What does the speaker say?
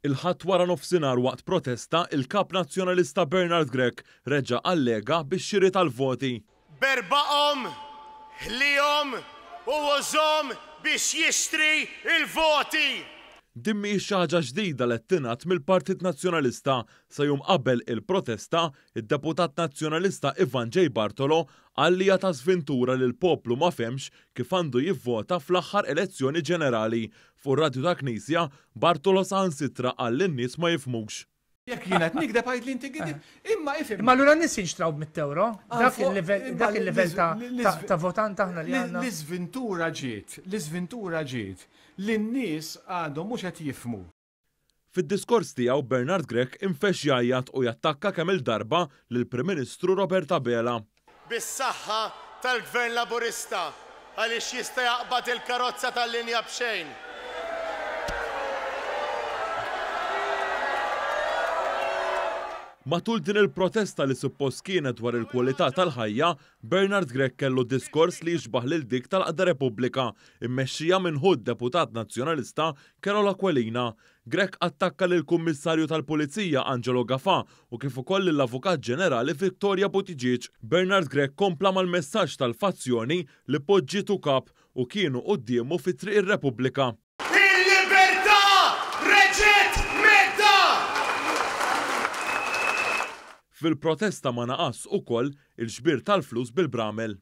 Il-Ħadd waranofsinhar waqt protesta, il-Kap Nazzjonalista Bernard Grech reġa' allega bix-xiri tal-voti. Berbaqhom, ħlihom u użhom biex jixtri l-voti! Din mhijiex xi ħaġa ġdida li qed tingħad mill-Partit Nazzjonalista. Sa jum qabel il-protesta, id-Deputat Nazzjonalista Ivan J. Bartolo qal li hija ta' żvintura li l-poplu ma fehmx kif għandu jivvota fl-aħħar elezzjoni ġenerali. Fuq ir-radju tal-Knisja, Bartolo saħansitra qal li n-nies ma jifhmux. Jekk jien qed nigdeb għidli inti gidib, imma ifhimni. Imma allura n-nies jinxtraw b'mitt ewro? Dak il-livell dak il-livell ta' ta' votant aħna li għandna? L-iżvintura ġiet, l-iżvintura ġiet li n-nies għadhom mhux qed jifhmu. Fid-diskors tiegħu Bernard Grech infexx jgħajjat u jattakka kemm-il darba lill-Prim Ministru Robert Abela. Bis-saħħa tal-Gvern Laburista għaliex jista' jaqbad il-karozza tal-linja b'xejn. Matul din il-protesta li suppost kienet dwar il-kwalità tal-ħajja, Bernard Grech kellu diskors li jixbah lil dik tal-Għaqda Repubblika, immexxija minn ħu d-Deputat Nazzjonalista Carol Aquilina. Grech attakka lill-Kummissarju tal-Pulizija Angelo Gafà u kif ukoll lill-Avukat Ġenerali Victoria Buttigieg. Bernard Grech kompla mal-messaġġ tal-fazzjoni li poġġietu kap u kienu quddiemu fi Triq ir-Repubblika. Il-libertà reġgħet mhedda! Fil-protesta ma naqasx ukoll il-xbir tal-flus bil-bramel.